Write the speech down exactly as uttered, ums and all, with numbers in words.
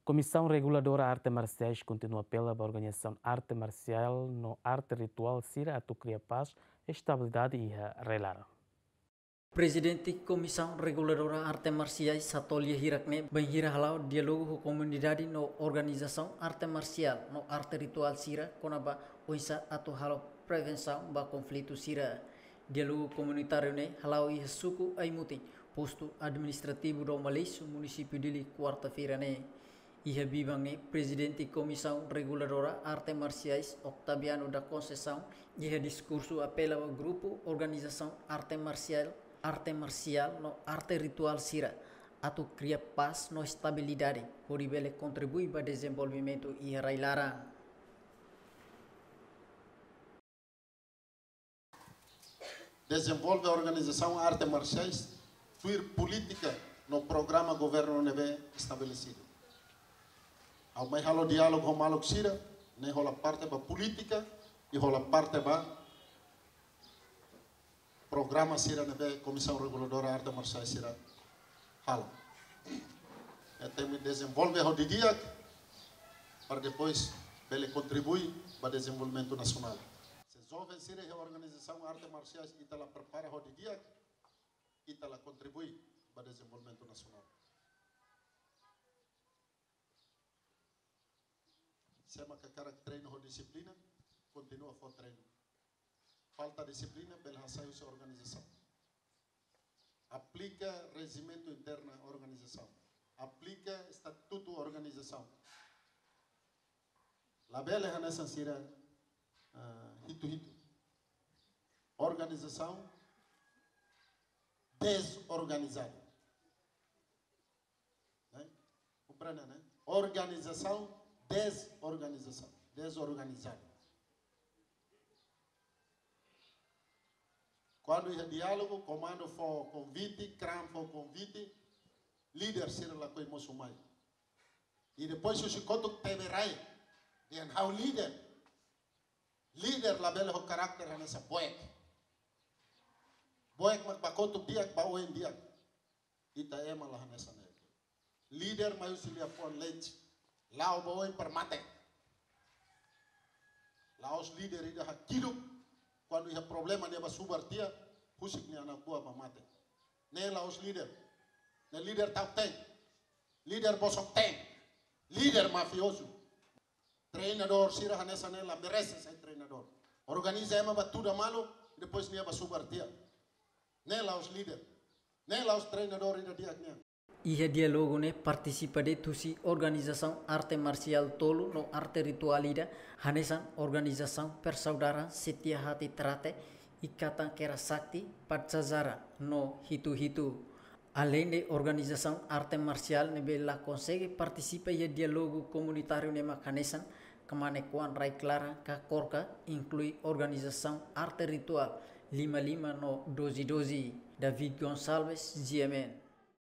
Komisaun Reguladora Arte Marsiais kontinua apela ba organizasaun arte marsiál no arte rituál sira atu kria pás, estabilidade iha rai-laran. Prezidente Komisaun Reguladora Arte Marsiais Satolia hirak-ne'e bainhira hala'o diálogu ho komunidade no organizasaun arte marsiál no arte rituál sira kona-ba oinsá atu halo prevensaun ba konflitu sira. Diálogu komunitáriu ne'e hala'o iha suku Aimutin, postu administrativu Dom Aleixo, munisípiu Dili, kuarta-feira ne'e. Iha biban ne'e, Prezidente Komisaun Reguladora Arte Marsiais, Octaviano da Conceição, iha diskursu apela ba grupu organizasaun arte marsiál, arte marsiál no arte rituál sira atu kria pás no estabilidade, hodi bele kontribui ba dezenvolvimentu iha rai-laran. Dezenvolve organizasaun arte marsiais tuir polítika no programa governu ne'ebé estabelesidu. Ha'u mai halo diálogu ho maluk sira, ne'e hola parte ba polítika i hola parte ba programa sira ne'ebé Komisaun Reguladora Arte Marsiais sira halo. Ita tenke dezenvolve ho didi'ak, para depois bele kontribui ba dezenvolvimentu nasionál. Se joven sira iha organizasaun arte marsiais ita la prepara ho didi'ak, ita la kontribui ba dezenvolvimentu nasionál. Se ema hakarak treinu ho dixiplina, kontinua fó treinu. Falta dixiplina, bele hasai husi organizasaun. Aplika rejimentu interna organizasaun. Aplika estatutu organizasaun. Labele hanesan sira, ah, hitu-hitu. Organizasaun dezorganizadu. Ne'e? Komprende, ne'e? Organizasaun dezorganizasaun, dezorganizadu. Kuandu iha diálogu, komandu fó konvite, kram fó konvite, líder sira lakohi mosu mai. I depois husi kotuk tebe rai, dehan ha'u líder. Líder labele ho karakter hanesan boek. Boek mak ba kotuk di'ak, ba oin di'ak. Ita ema la hanesan ne'e. Líder mai husi liafuan leti. La'o ba oin para mate. La'ós líder ida hakiluk, kuandu iha problema nia ba subar tiha, husik nia anak buah ba mate. Ne'e la'ós líder. Ne'e líder ta'uk-teen. Líder bosok-teen. Líder mafiozu. Treinadór sira hanesan ne'e la merese sai treinadór. Organiza ema ba tuda malu, depois nia ba subar tiha. Ne'e la'ós líder. Ne'e la'ós treinadór ida di'ak nian. Iha diálogu ne'e partisipa de'it husi organizasaun arte marsiál tolu no arte rituál ida, hanesan organizasaun Persaudaran Setia Hati Trate, Ikatan Kera Sakti, Patsazara no hitu-hitu. Aleinde organizasaun arte marsiál ne'ebé la konsege partisipa iha diálogu komunitáriu ne'e mak hanesan Kamane Kuan Rai Klaran ka KORKA, inklui organizasaun arte rituál Lima Lima no Doze Doze. David Gonçalves, G M N.